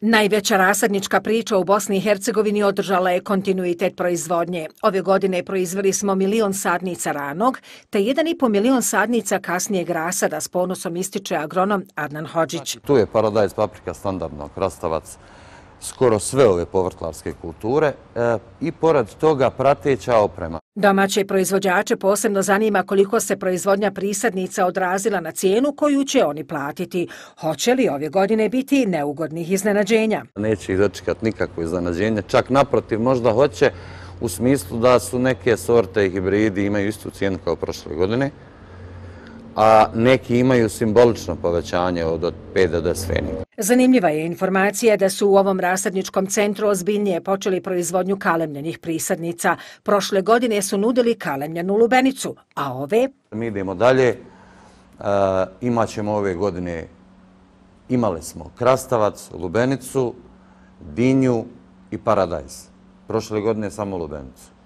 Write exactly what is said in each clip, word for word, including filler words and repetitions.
Najveća rasadnička priča u Bosni i Hercegovini održala je kontinuitet proizvodnje. Ove godine proizveli smo milion sadnica ranog, te jedan i po milion sadnica kasnijeg rasada, s ponosom ističe agronom Adnan Hodžić. Tu je paradajz, paprika, standardno, krastavac, skoro sve ove povrtlarske kulture e, i pored toga prateća oprema. Domaće proizvođače posebno zanima koliko se proizvodnja prisadnica odrazila na cijenu koju će oni platiti. Hoće li ove godine biti neugodnih iznenađenja? Neće ih dočekati nikakvo iznenađenje, čak naprotiv možda hoće u smislu da su neke sorte i hibridi imaju istu cijenu kao prošle godine, a neki imaju simbolično povećanje od pet do deset pfeniga. Zanimljiva je informacija da su u ovom rasadničkom centru ozbiljnije počeli proizvodnju kalemljenih prisadnica. Prošle godine su nudili kalemljenu lubenicu, a ove... Mi idemo dalje, e, imat ćemo ove godine, imali smo krastavac, lubenicu, dinju i paradajz. Prošle godine samo lubenicu.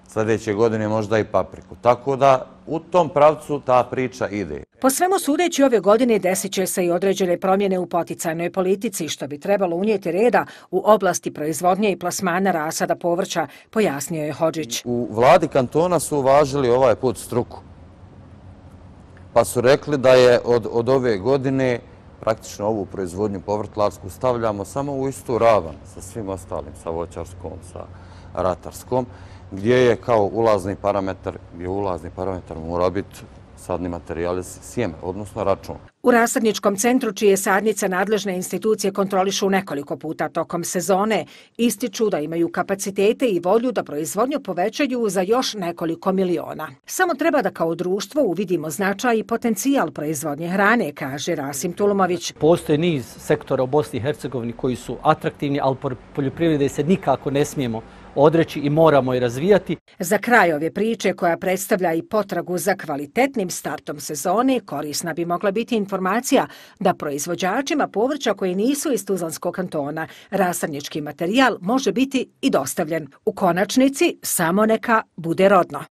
Sljedeće godine možda i papriku. Tako da u tom pravcu ta priča ide. Po svemu sudeći ove godine desit će se i određene promjene u poticajnoj politici, što bi trebalo unijeti reda u oblasti proizvodnje i plasmana rasada povrća, pojasnio je Hodžić. U vladi kantona su uvažili ovaj put struku. Pa su rekli da je od, od ove godine praktično ovu proizvodnju povrtlarsku stavljamo samo u istu ravan sa svim ostalim, sa voćarskom, sa ratarskom, gdje je kao ulazni parametar, gdje ulazni parametar mora biti sadni materijal iz sjeme, odnosno račun. U rasadničkom centru, čije sadnice nadležne institucije kontrolišu nekoliko puta tokom sezone, ističu da imaju kapacitete i volju da proizvodnju povećaju za još nekoliko miliona. Samo treba da kao društvo uvidimo značaj i potencijal proizvodnje hrane, kaže Rasim Tulumović. Postoje niz sektora u Bosni i Hercegovini koji su atraktivni, ali poljoprivrede se nikako ne smijemo odreći i moramo je razvijati. Za kraj ove priče, koja predstavlja i potragu za kvalitetnim startom sezone, korisna bi mogla biti informacija da proizvođačima povrća koji nisu iz Tuzlanskog kantona rasadnički materijal može biti i dostavljen. U konačnici samo neka bude rodno.